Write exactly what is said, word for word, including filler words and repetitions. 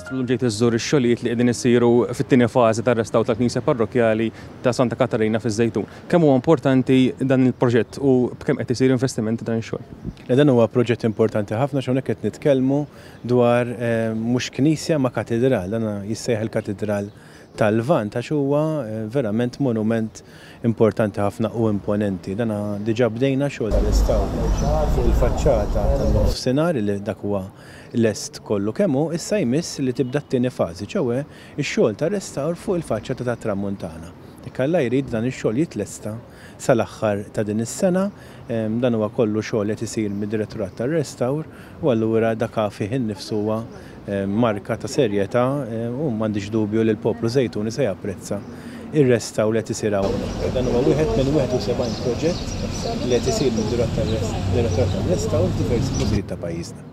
Ministru, llum ġejt iżżur ix-xogħlijiet li qegħdin isiru fit-tieni fażi tar-restawr tal-Knisja Parrokkjali ta' Santa Katarina fiż-Żejtun. Kemm huwa importanti dan il-proġett u b'kemm qed isir investiment dan ix-xogħol? Dan huwa proġett importanti ħafna, x'hawnhekk qed nitkellmu dwar eh, mhux knisja ma katedral, dan jissejjaħ il-Katedral tal-Lvant għax huwa eh, verament monument importanti ħafna u imponenti. Dan diġà bdejna xogħol tal-restawr fuq il-faċċata tan-nofsinhar li dak huwa lest kollu kemm hu, issa jmiss li tibda t-tieni fażi, ċoè ix-xogħol tar-restawr fuq il-faċċata tat-Tramuntana. Jekk Alla jrid, dan ix-xogħol jitlesta sal-aħħar ta' din is-sena. Dan huwa kollu xogħol qed isir mid-Direttorat tar-Restawr u allura dak fih innifsu huwa marka ta' serjetà u m'għandix dubju li l-poplu Żejtuni se japprezza ir-restawr li qed isir hawnhekk. Dan huwa wieħed minn wieħed u sebgħin proġett li qed isir mid-Direttorat tar-Restawr f'diversi postijiet ta' pajjiżna.